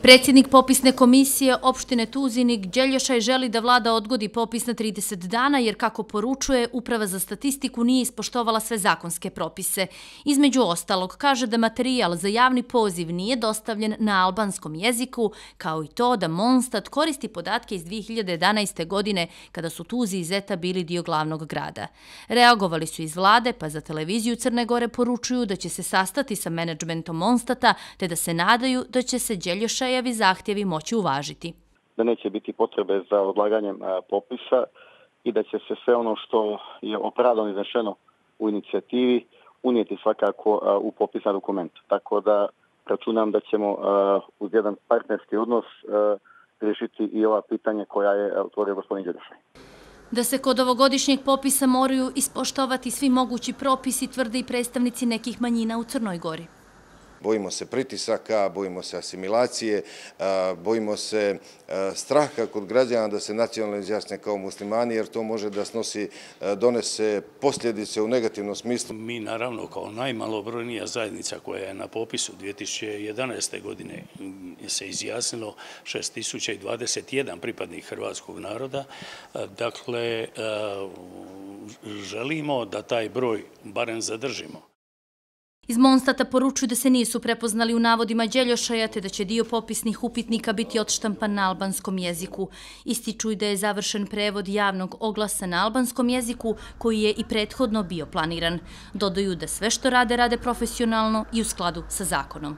Predsjednik popisne komisije opštine Tuzinik Đeljošaj želi da vlada odgodi popis na 30 dana jer, kako poručuje, Uprava za statistiku nije ispoštovala sve zakonske propise. Između ostalog, kaže da materijal za javni poziv nije dostavljen na albanskom jeziku, kao i to da Mondstadt koristi podatke iz 2011. godine kada su Tuzi i Zeta bili dio glavnog grada. Reagovali su iz vlade, pa za televiziju Crne Gore poručuju da će se sastati sa menadžmentom Mondstadta te da se nadaju da će se Đeljošajevi zahtjevi moći uvažiti. Da neće biti potrebe za odlaganjem popisa i da će se sve ono što je opravdano izneseno u inicijativi unijeti svakako u popisni dokument. Tako da računam da ćemo uz jedan partnerski odnos riješiti i ova pitanja koja je otvorio gospodin Đeljošaj. Da se kod ovogodišnjeg popisa moraju ispoštovati svi mogući propisi, tvrde i predstavnici nekih manjina u Crnoj Gori. Bojimo se pritisaka, bojimo se asimilacije, bojimo se straha kod građana da se nacionalno izjasne kao muslimani, jer to može da donese posljedice u negativnom smislu. Mi naravno kao najmalobrojnija zajednica koja je na popisu 2011. godine se izjasnilo 6021 pripadnik hrvatskog naroda. Dakle, želimo da taj broj barem zadržimo. Iz Mondstadta poručuju da se nisu prepoznali u navodima Đeljošaja te da će dio popisnih upitnika biti odštampan na albanskom jeziku. Ističu i da je završen prevod javnog oglasa na albanskom jeziku koji je i prethodno bio planiran. Dodaju da sve što rade profesionalno i u skladu sa zakonom.